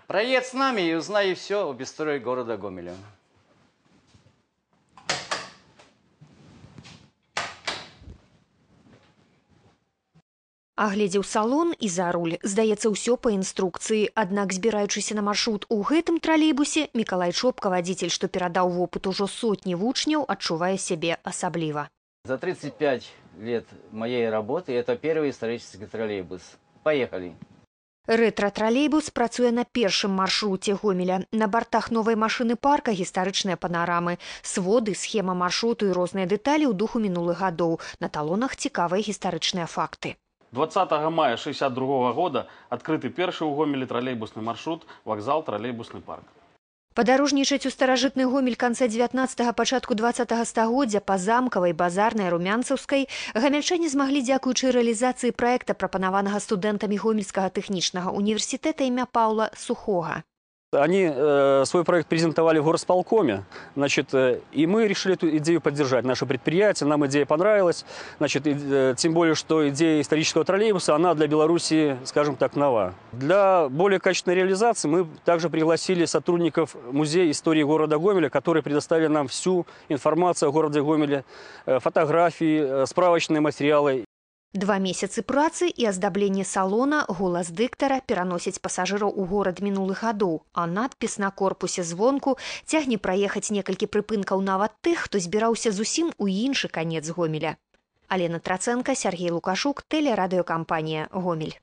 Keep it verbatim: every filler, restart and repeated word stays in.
Проедь с нами и узнай все об истории города Гомеля. Агледзеў салон і за руль. Здаецца, ўсё па інструкцыі. Аднак, збіраючыся на маршрут у гэтым тралейбусе, Мікалай Чопка, вадзіцель, што перадаў вопыт ужо сотні вучняў, адчувае сябе асабліва. За тридцать пять лет моей работы это первый исторический троллейбус. Поехали. Рэтра-тралейбус працуе на першым маршруце Гомеля. На бартах новай машыны парка гістарычныя панарамы, своды, схема маршруту і розныя дэталі ў духу мінулых гадоў. На талонах цікавыя гістарычныя факты. двадцатого мая шестьдесят другого года открытый перший у Гомеле троллейбусный маршрут вокзал троллейбусный парк. Падарожнічаць у старажытны Гомель канца дзевятнаццатага, пачатку дваццатага стагоддзя па замкавай, базарнай, румянцаўскай гамельчане змаглі дзякуючы рэалізацыі праекта, прапанаванага студэнтамі Гомельскага тэхнічнага універсітэта імя Паўла Сухога. Они э, свой проект презентовали в горосполкоме, значит, э, и мы решили эту идею поддержать. Наше предприятие, нам идея понравилась, значит, и, э, тем более, что идея исторического троллейбуса, она для Беларуси, скажем так, нова. Для более качественной реализации мы также пригласили сотрудников Музея истории города Гомеля, которые предоставили нам всю информацию о городе Гомеле, э, фотографии, э, справочные материалы. Два месяцы працы і аздабленне салона, голас дыктара пераносяць пасажыраў у горад мінулых гадоў, а надпіс на корпусе звонку цягне праехаць некалькі прыпынкаў нават тых, хто збіраўся зусім у іншы канец Гомеля. Алена Трацэнка, Сергей Лукашук, тэлерадыёкампанія «Гомель».